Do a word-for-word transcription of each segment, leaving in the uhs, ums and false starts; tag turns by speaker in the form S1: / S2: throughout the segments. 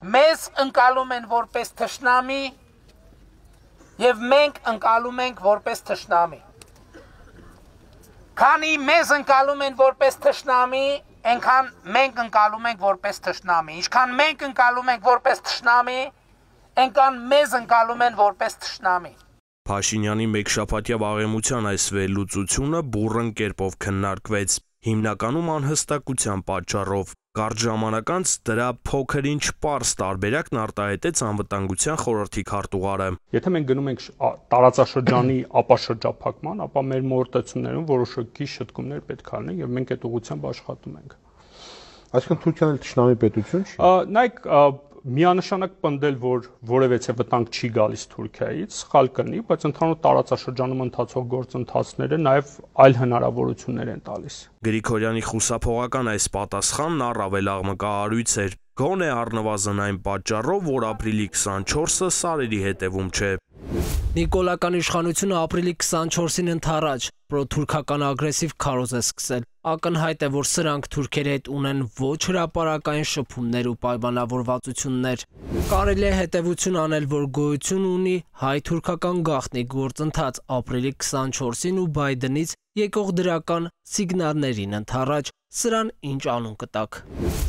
S1: մեզ ընկալում են որպես թշնամի եւ մենք ընկալում ենք որպես թշնամի։ Քանի մեզ ընկալում են որպես թշնամի, այնքան մենք ընկալում ենք որպես թշնամի։ Ինչքան մենք ընկալում ենք որպես թշնամի, այնքան մեզ ընկալում են որպես թշնամի։
S2: Փաշինյանի մեկշաբաթյա վաղեմության այս վերլուծությունը բուռն կերպով քննարկվեց, հիմնականում անհստակության պատճառով։ Կարճ ժամանակ անց դրա փոքր-ինչ պարզ տարբերակն արտահայտեց անվտանգության խորհրդի քարտուղարը։
S3: Եթե մենք գնում ենք տարածաշրջանի ապաշրջափակման, ապա մեր մոտեցումներում որոշակի շտկումներ պետք է լինեն եւ մենք այդ ուղղությամբ աշխատում ենք։
S4: Այսինքն Թուրքիան էլ թշնամի պետություն չի։
S3: Նայեք, միանշանակ պնդել, որ որևէ վտանգ չի գալիս Թուրքիայից, սխալ կլինի, բայց ընդհանուր տարածաշրջանում ընթացող գործընթացները նաև այլ հնարավորություններ են տալիս։
S2: Գրիգորյանի խուսափողական այս պատասխանն առավել աղմկահարույց էր, գոնե առնվազն այն պատճառով, որ ապրիլի քսանչորսը սարերի հետևում չէ։
S5: Նիկոլական իշխանությունը ապրիլի քսանչորսին ընդառաջ պրոթուրքական ագրեսիվ քարոզ է սկսել։ Ակնհայտ է, որ սրանք թուրքերի հետ ունեն ոչ հրապարակային շփումներ ու պայմանավորվածություններ։ Կարելի է հետևություն անել, որ գոյություն ունի հայ-թուրքական գաղտնի գործընթաց ապրիլի քսանչորսին ու Բայդենից եկող դրական սիգնալներին ընդառաջ, սրան ինչ անուն կտակ։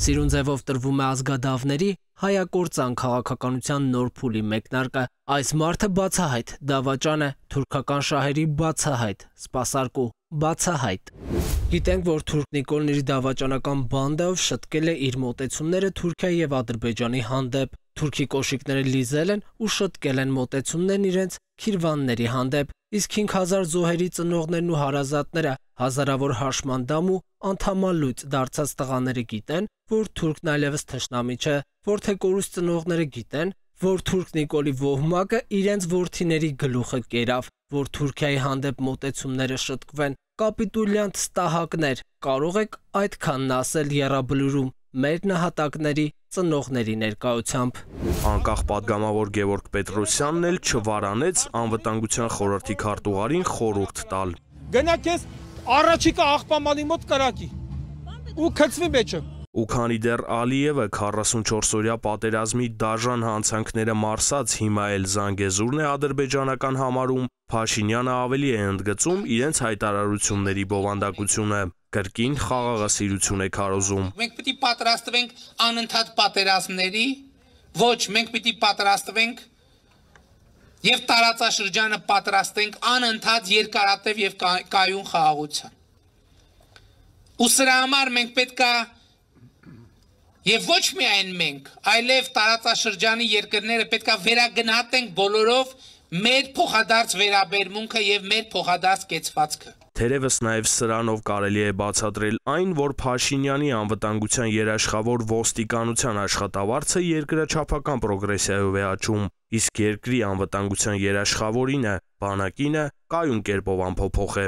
S5: Սիրուն ձևով տրվում է ազգադավների հայակործան քաղաքականության նոր փուլի մեկնարկը։ Այս մարդը բացահայտ դավաճան է, թուրքական շահերի բացահայտ, սպասարկու բացահայտ։ Գիտենք, որ թուրք Նիկոլն իր դավաճանական բանդայով շտկել է իր մոտեցումները Թուրքիայի եւ Ադրբեջանի հանդեպ։ Թուրքի կոշիկները լիզել են ու շտկել են մոտեցումներն իրենց քիրվանների հանդեպ, իսկ հինգ հազար զոհերի ծնողներն ու հարազատները, հազարավոր հաշմանդամ ու անդամալույծ դարձած տղաները գիտեն, որ թուրքն այլևս թշնամի չէ, որ թե կորուս ծնողները գիտեն, որ թուրք Նիկոլի ոհմակը իրենց որդիների գլուխը կերավ, որ Թուրքիայի հանդեպ մոտեցումները շտկվեն, կապիտուլյան ստահակներ, կարող եք այդքանն ասել եռաբլուրում մեր նահատակների ծնողների ներկայությամբ։
S2: Անկախ падգամավոր Գևորգ Պետրոսյանն էլ չվարանեց անվտանգության խորհրդի քարտուղարին խորհուրդ տալ։
S6: Գնա քեզ առաջիկա աղբամանի մոտ կրակի ու քցվի մեջը։
S2: Ու քանի դեռ Ալիևը քառասունչորսօրյա պատերազմի դաժան հանցանքները մարսած հիմա էլ Զանգեզուրն է ադրբեջանական համարում, Փաշինյանը ավելի է ընդգծում իրենց հայտարարությունների բովանդակությունը, կրկին խաղաղասիրություն է քարոզում։
S1: Մենք պիտի պատրաստվենք անընդհատ պատերազմների, ոչ, մենք պիտի պատրաստվենք եւ տարածաշրջանը պատրաստենք անընդհատ երկարատև եւ կայուն խաղաղության։ Ու սրա համար մենք պետքա Եվ ոչ միայն մենք, այլև տարածաշրջանի երկրները պետքա վերագնահատենք բոլորով մեր փոխադարձ վերաբերմունքը եւ մեր փոխադարձ կեցվածքը։
S2: Թերևս նաև սրանով կարելի է բացատրել այն, որ Փաշինյանի անվտանգության երաշխավոր ոստիկանության աշխատավարձը երկրաչափական պրոգրեսիայով է աճում, իսկ երկրի անվտանգության երաշխավորինը, բանակինը կայուն կերպով անփոփոխ է։